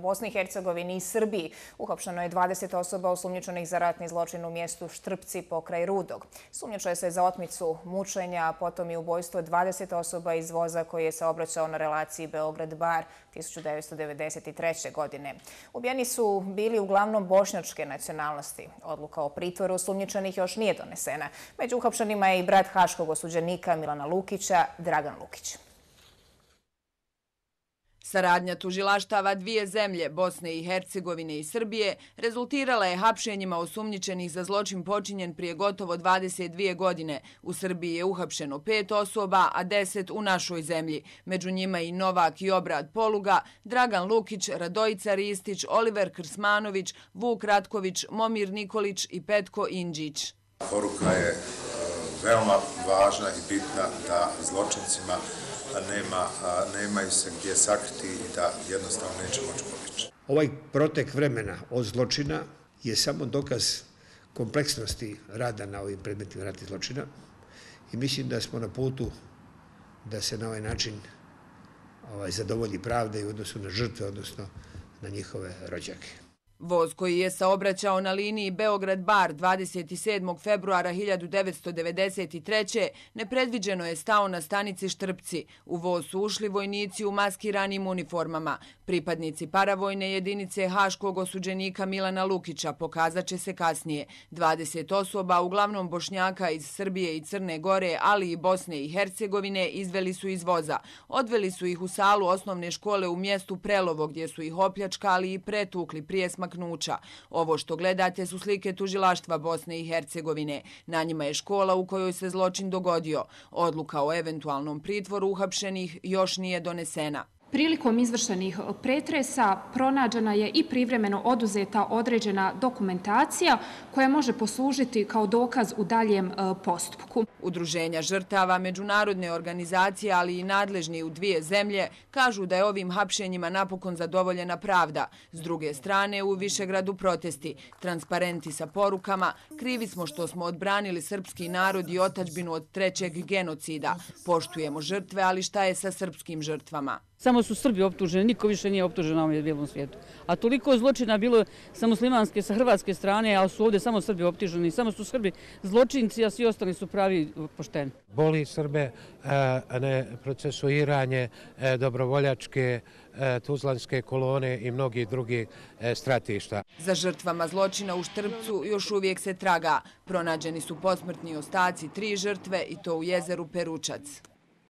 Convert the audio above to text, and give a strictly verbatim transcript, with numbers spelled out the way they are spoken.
Bosni i Hercegovini i Srbiji uhapšeno je dvadeset osoba osumnjičenih za ratni zločin u mjestu Štrpci pokraj Rudog. Sumnjičuje se za otmicu, mučenja, a potom i ubojstvo dvadeset osoba iz voza koji je saobraćao na relaciji Beograd-Bar tisuću devetsto devedeset treće. godine. Ubijeni su bili uglavnom bošnjačke nacionalnosti. Odluka o pritvoru osumnjičenih još nije donesena. Među uhapšenima je i brat haškog osuđenika Milana Lukića, Dragan Lukić. Saradnja tužilaštava dvije zemlje, Bosne i Hercegovine i Srbije, rezultirala je hapšenjima osumnjičenih za zločin počinjen prije gotovo dvadeset dvije godine. U Srbiji je uhapšeno pet osoba, a deset u našoj zemlji. Među njima i Novak i Obrad Poluga, Dragan Lukić, Radojica Ristić, Oliver Krsmanović, Vuk Ratković, Momir Nikolić i Petko Indžić. Poruka je veoma važna i bitna da zločincima nema, nemaju se gdje sakriti i da jednostavno neće moći pobjeći. Ovaj protek vremena od zločina je samo dokaz kompleksnosti rada na ovim predmetima ratnih zločina i mislim da smo na putu da se na ovaj način ovaj, zadovolji pravda i u odnosu na žrtve, odnosno na njihove rođake. Voz koji je saobraćao na liniji Beograd-Bar dvadeset sedmog februara hiljadu devetsto devedeset treće. nepredviđeno je stao na stanici Štrpci. U voz su ušli vojnici u maskiranim uniformama. Pripadnici paravojne jedinice haškog osuđenika Milana Lukića pokazat će se kasnije. dvadeset osoba, uglavnom Bošnjaka iz Srbije i Crne Gore, ali i Bosne i Hercegovine, izveli su iz voza. Odveli su ih u salu osnovne škole u mjestu Prelovo, gdje su ih opljačkali i pretukli prije smaknuća. Ovo što gledate su slike tužilaštva Bosne i Hercegovine. Na njima je škola u kojoj se zločin dogodio. Odluka o eventualnom pritvoru uhapšenih još nije donesena. Prilikom izvršenih pretresa pronađena je i privremeno oduzeta određena dokumentacija koja može poslužiti kao dokaz u daljem postupku. Udruženja žrtava, međunarodne organizacije, ali i nadležni u dvije zemlje kažu da je ovim hapšenjima napokon zadovoljena pravda. S druge strane, u Višegradu protesti, transparenti sa porukama, krivi smo što smo odbranili srpski narod i otadžbinu od trećeg genocida. Poštujemo žrtve, ali šta je sa srpskim žrtvama? Samo su Srbi optuženi, niko više nije optužen na ovom bijelom svijetu. A toliko zločina bilo sa muslimanske, sa hrvatske strane, a su ovdje samo Srbi optuženi. Samo su Srbi zločinci, a svi ostali su pravi pošteni. Boli Srbe ne procesuiranje dobrovoljačke tuzlanske kolone i mnogi drugi stratišta. Za žrtvama zločina u Štrpcu još uvijek se traga. Pronađeni su posmrtni ostaci tri žrtve i to u jezeru Peručac.